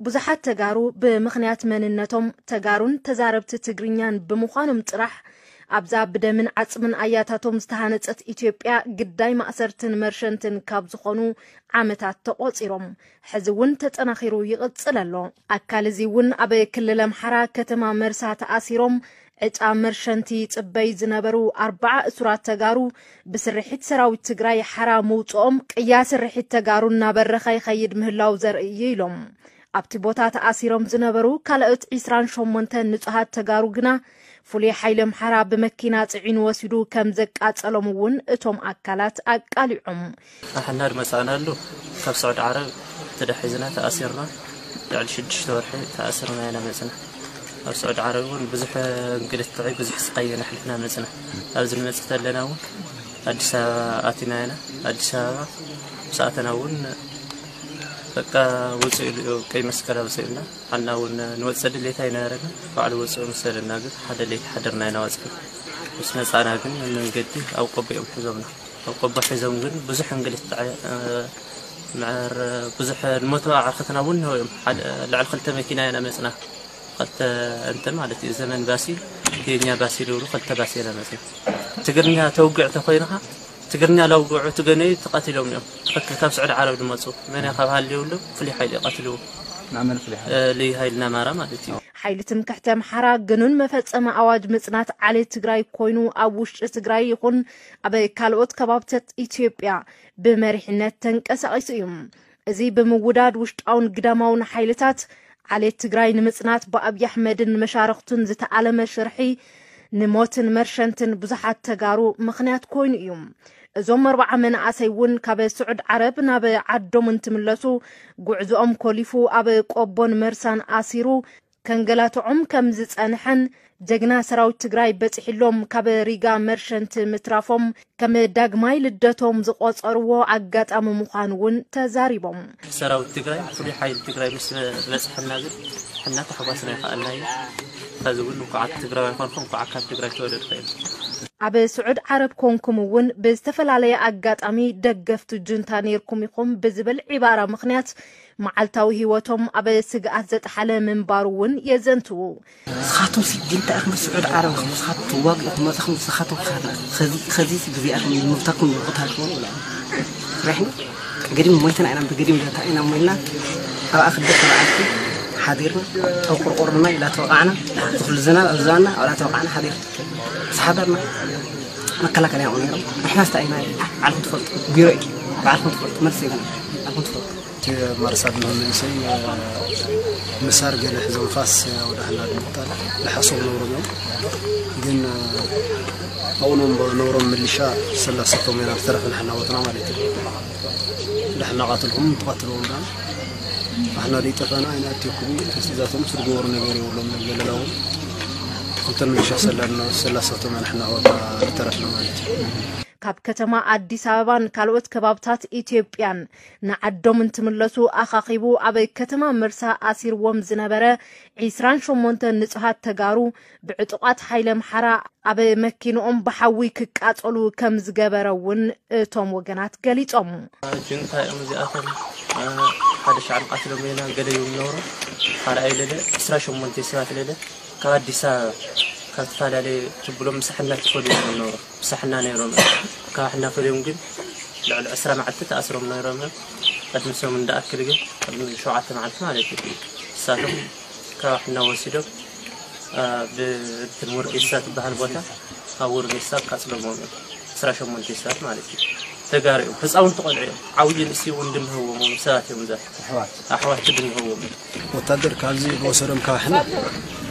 ብዙሓት ተጋሩ ብምኽንያት መንነቶም ተጋሩን ተዛረብቲ ትግርኛን ብምዃኖም ጥራሕ ኣብዛ ብደምን ዓጽምን ኣያታቶም ዝተሃነጸት ኢትዮጵያ ግዳይ ማእሰርትን መርሸንትን ካብ ዝኾኑ ዓመታት ተቖጺሮም። ሕዚ እውን ተጠናኺሩ ይቕጽል ኣሎ። ኣካል እዚ እውን ኣብ ክልል ኣምሓራ ከተማ መርሳ ተኣሲሮም ዕጫ መርሸንቲ ይጽበይ ዝነበሩ ኣርባዓ እሱራት ተጋሩ ብስርሒት ሰራዊት ትግራይ ሓራ ምውፅኦም ቅያ ስርሒት ተጋሩ እናበረኸ ይኸይድ ምህላው ዘርኢ እዩ ኢሎም። ኣብቲ ቦታ ተኣሲሮም ዝነበሩ ካልኦት ዒስራን ሸሞንተ ንጹሃት ተጋሩ ግና ፍሉይ ሓይሊ ኣምሓራ ብመኪና ጽዒኑ ወሲዱ ከም ዘቃጸሎም እውን እቶም ኣካላት ኣቃሊዖም። ኣሕና ድመጻእናሉ ካብ ስዑድ ዓረብ ተዳሒዝና ተኣሲርና ልዕሊ ሽዱሽተ ወርሒ ተኣሲርና ኢና መጽና። ኣብ ስዑድ ዓረብ እውን ብዙሕ እንግልትዒ ብዙሕ ስቃይ ኢና ኣሕሊፍና መጽና። ኣብዚ ንመጽእ ተለና እውን ኣዲስ ኣበባ ኣቲና ኢና። ኣዲስ ኣበባ ምስ ኣተና እውን በቃ ውፅእ ኢሉ እዩ፣ ቀይ መስቀል ኣውፅእልና። ሓና እውን ንወፅእ ድሌት ኣይነበረና፣ ባዕሉ ወፅኡ መሰለና። ግን ሓደ ለይቲ ሓደርና ኢና ወፅና። ምስ መፃና ግን መንገዲ ኣብ ቆቦ እዮም ሒዞምና። ኣብ ቆቦ ሒዞም ግን ብዙሕ እንግልት፣ እ፣ ምዕር ብዙሕ ንሞት ኣዕርክትና እውን ነው እዮም። ሓደ ልዕሊ ክልተ መኪና ኢና መፅና። ክልተ እንትን ማለት እዩ፣ ዘመን ባሲ፣ የኛ ባሲ ዝብሉ ክልተ ባሲ ኢና መፅና። ትግርኛ ተውግዕ ተኮይንካ ትግርኛ ለውግዑ ትገነዩ ተቐቲሎም እዮም። ትኽክል፣ ካብ ስዑዲ ዓረብ ዝመፁ መን ካብ ሃልዩ የብሎም፣ ፍሉይ ሓይሊ እዩ ቀትልዎ። ንኣመን ፍሉይ ሓይሊ? እ፣ ልዩ ሓይሊ ናማራ ማለት እዩ። ሓይሊ ትምክሕቲ ኣምሓራ ግኑን መፈጸሚ ኣዋጅ ምጽናት ዓሌት ትግራይ ኮይኑ ኣብ ውሽጢ ትግራይ ይኹን ኣብ ካልኦት ከባብታት ኢትዮጵያ ብመሪሕነት ተንቀሳቒሱ እዩ። እዚ ብምውዳድ ውሽጣውን ግዳማውን ሓይልታት ዓሌት ትግራይ ንምጽናት ብኣብይ ኣሕመድን መሻርኽቱን ዝተኣለመ ሽርሒ ንሞትን መርሸንትን ብዙሓት ተጋሩ ምኽንያት ኮይኑ እዩ። እዞም ኣርባዓ መናእሰይ እውን ካብ ስዑድ ዓረብ ናብ ዓዶም እንትምለሱ ጉዕዞኦም ኮሊፉ ኣብ ቆቦን መርሳን ኣሲሩ ከንገላትዖም ከም ዝጸንሐን ጀግና ሰራዊት ትግራይ በጺሕሎም ካብ ሪጋ መርሸንት ምትራፎም ከም ዳግማይ ልደቶም ዝቖጸርዎ ኣጋጣሚ ምዃኑ እውን ተዛሪቦም። ሰራዊት ትግራይ፣ ፍሉይ ሓይሊ ትግራይ ምስ በጽሐና ግን ሕና ተሓጓስና ይኸኣልና እዩ። ከዚ እውን እንኳዕ ትግራዊ ኣይኮንኩ፣ እንኳዕ ካብ ትግራይ ተወለድኩ እዩ። ኣብ ስዑድ ዓረብ ኮንኩም እውን ብዝተፈላለየ ኣጋጣሚ ደገፍቲ ጁንታ ነይርኩም ኢኹም ብዝብል ዒባራ ምኽንያት መዓልታዊ ህይወቶም ኣብ ስግኣት ዘጥሓለ ምንባሩ እውን የዘንትዉ። ንስኻትኩም ሲ ጅንታ ኢኹም፣ ስዑድ ዓረብ ኢኹም፣ ንስኻትኩም ትዋግኡ ኢኹም፣ መጻኹም ንስኻትኩም ክሳትና። ኸዚ፣ ኸዚ ሲ ብዚኣኹም ምብታኩም ይቕታልኩም ይብላ። ርሕና ገዲም ሞይትና ኢና፣ ብገዲም ዳታ ኢና ሞይና። ኣብኣ ክልተ መዓልቲ ሓዲርና፣ ኣብ ቆርቆሮና ኢላ ተወቃዕና፣ ዝኹሉ ዝናብ ኣብ ዝባና ኣብኣ ተወቃዕና ሓዲርና። ምስ ሓደርና መከላከልያ ይኹኑ ነይሮም። ንሕና ስታ ኢና፣ ባዕልኹም ትፈልጡ፣ ቢሮ እዩ፣ ባዕልኹም ትፈልጡ፣ መልሲ የብልና፣ ባዕልኹም ትፈልጡ። እቲ ማርሳል ንመንእሰይ ምሳር ገለ ሒዞም ፋስ ወደ ሕና ንምቕታል ንሓሶም ነብሮም እዮም። ግን ኣብኡ ነብሮም ምልሻ ሰላሰቶም ኢና ዝተረፈ ንሕና ወትና ማለት እዩ። ድሕና ቃትልኩም ትቐትልዎም ዳ ንሕና ደይጠፈና ኣይንኣትየኩም። ተስቲዛቶም ዝገበሩ ነገር የብሎም። ገለላው ክልተ ምልሻ ሰላሰቶም ኢና ንሕና ወትና ዝተረፍና ማለት እዩ። ካብ ከተማ ኣዲስ ኣበባን ካልኦት ከባብታት ኢትዮጵያን ንዓዶም እንትምለሱ ኣኻኺቡ ኣብ ከተማ መርሳ ኣሲርዎም ዝነበረ ዒስራን ሸሞንተ ንጹሃት ተጋሩ ብዕጡቓት ሓይሊ ኣምሓራ ኣብ መኪንኦም ብሓዊ ክቃጸሉ ከም ዝገበረ እውን እቶም ወገናት ገሊጾም። ጅንታ እዮም እዚኣቶም። ሓደ ሻዕብ ቃትሎም ሌላ ገለ እዮም ነብሮ። ካልኣይ ሌለ ዕስራ ሸሞንተ ሰባት ሌለ ካብ ኣዲስ ኣበባ ካብ ዝተፈላለየ ትብሎም ምሳሕና ትፈልዩ እዮም ነብሮ። ምሳሕና ነይሮም እዮም። ካብ ሕና ፈልዮም ግን ልዕሊ ዕስራ መዓልቲ ተኣስሮም ነይሮም እዮም። ቅድሚ ሰሙን እንዳኣክል ግን ቅድሚ ሸውዓተ መዓልቲ ማለት እዩ። ንሳቶም ካብ ሕና ወሲዶም፣ አ፣ ብእንትን ውርጌሳ ትበሃል ቦታ ኣብ ውርጌሳ ኣቃጽሎምዎም እዮም። ዕስራ ሸሞንተ ሰባት ማለት እዩ። ተጋሩ እዮም። ህፃውንቲ ቆልዑ እዮም። ዓብዪ ንእሲ እውን ድንህዎም እዮም። ሰባት እዮም እዛ ኣሕዋት። ኣሕዋት ድንህዎም እዮም። ወታደር ካብዚ ዝወሰዶም ካብ ሕና፣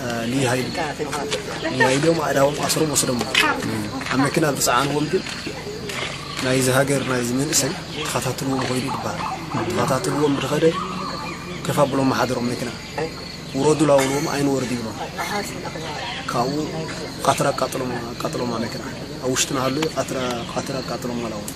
አ፣ ልዩ ሃይል፣ ልዩ ሃይል እዮም። ኣእዳዎም ኣስሮም ወስዶም። ኣብ መኪና ዝፀዓንዎም ግን ናይዚ ሃገር ናይዚ መንእሰይ ተኸታትልዎም ኮይኑ ይበሃል። ተኸታትልዎም ብድኸደ ከፍ ኣብሎም ሓደሮም መኪና። ውረዱ ላውልዎም ኣይንወርድ ይብሎም። ካብኡ ቃትራ ኣቃጥሎም፣ ኣቃጥሎም መኪና። ኣብ ውሽጥና ሃሉ ቃትራ፣ ቃትራ ኣቃጥሎም ኣላዎም።